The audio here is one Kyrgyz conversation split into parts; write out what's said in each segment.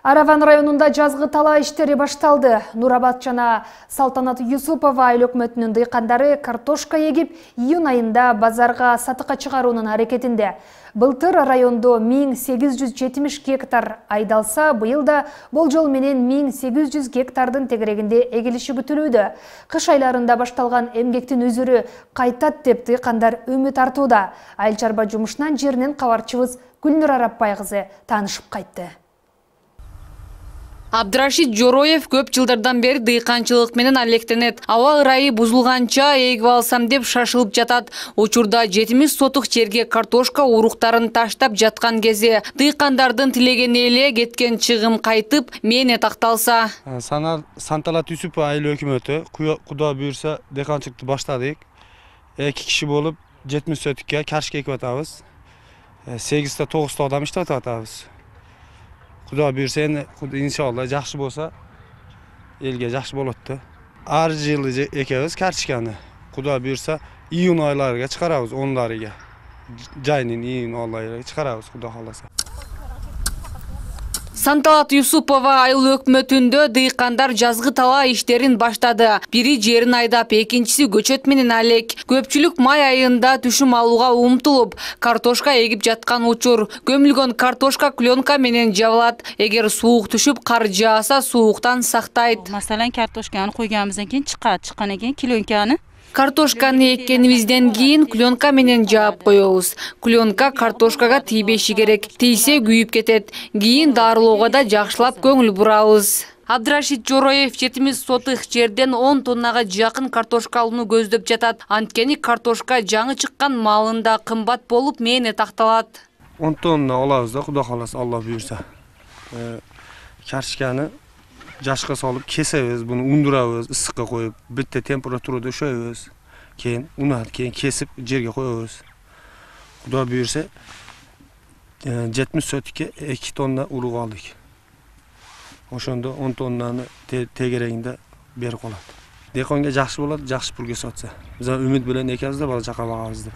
Араван районунда жазгы талаа иштери башталды. Нурабад жана Салтанат Юсупова айыл өкмөтүнүн дыйкандары картошка егип, июнь айында базарга сатыкка чыгаруунун аракетинде. Былтыр райондо 1870 гектар айдалса, быйыл да болжол менен 1800 гектардын тегерегинде эгилиши күтүлүүдө. Кыш айларында башталган эмгектин өзүрү кайтат деп дыйкандар үмүт артууда. Айыл чарба жумушунан жеринен кабарчыбыз Гүлнур Арапбай кызы таанышып кайтты. Абдрашид Жороев көп жылдардан бери дыйканчылык менен алектенет. Аба ырайы бузулганча эгип алсам деп шашылып жатат. Учурда 70 сотук жерге картошка уруктарын таштап жаткан кезде дыйкандардын тилегени эле кеткен чыгым кайтып, мээне такталса. Салтанат Юсупова айыл өкмөтү Куда буйрса дыйканчылыкты баштадык. 2 киши болуп 70 сотукка картошка экип атабыз. 8 9 адам иштеп атабыз. Куда буйрса иншалла жакшы болсо элге жакшы болот да. Ар жылы экебиз картошканы. Куда буйрса июнь айларга чыгарабыз, 10-ларыга. Жайнын июнь айларга чыгарабыз, Куда кааласа. Салтанат Юсупова айыл өкмөтүндө дыйкандар жазгы талаа иштерин баштады. Бири жерин айдап, экинчиси көчөт менен алек. Көпчүлүк май айында түшүм алууга умтулуп, картошка эгип жаткан учур. Көмүлгөн картошка клёнка менен жабылат. Эгер суук түшүп, кар жааса, сууктан сактайт. Маселен, картошканы койганыбыздан кийин чыккандан кийин клёнканы Картошканы эккенибизден кийин клёнка менен жаап коебуз. Клёнка картошкага тийбеши керек. Тийсе күйүп кетет. Кийин дарылоого да жакшылап көңүл бурабыз. Абдрашид Жороев 70 сотых жерден 10 тоннага жакын картошка алууну көздөп жатат. Анткени картошка жаңы чыккан маалында кымбат болуп, мээне такталат. 10 тонна алабыз да, Куда кааласа, Алла буйрса. Картошканы жашка салып кесебиз, буну ундурабыз, ысыкка коюп, бетте температурада өшөбүз. Кийин унат, кийин кесип жерге коебуз. Куда буйрса 70 сотукка 2 тонна урук алдык. Ошондо 10 тоннаны тегерегинде берип калат. Дыйканга жакшы болот, жакшы пул кесип атса. Биз үмүт менен экебиз да, бала чака багабыз деп.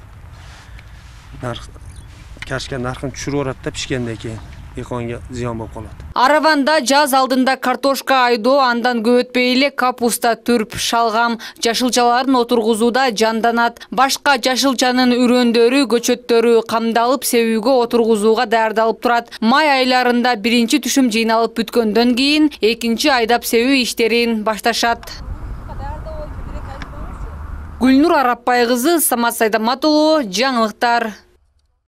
Картошка наркын түшүрүп барат да, пишкенден кийин дыйканга зыян болуп калат. Араванда жаз алдында картошка айдоо, андан көп өтпөй эле капуста, түрп, шалгам, жашылчаларын отургузууда жанданат. Башка жашылчанын үрөндөрү, көчөттөрү камдалып, себүүгө отургузууга даярдалып турат. Май айларында биринчи түшүм жыйналып бүткөндөн кийин экинчи айдап себүү иштерин башташат. Гүлнур Арапбай кызы, Самат Сайдамат уулу, жаңылыктар.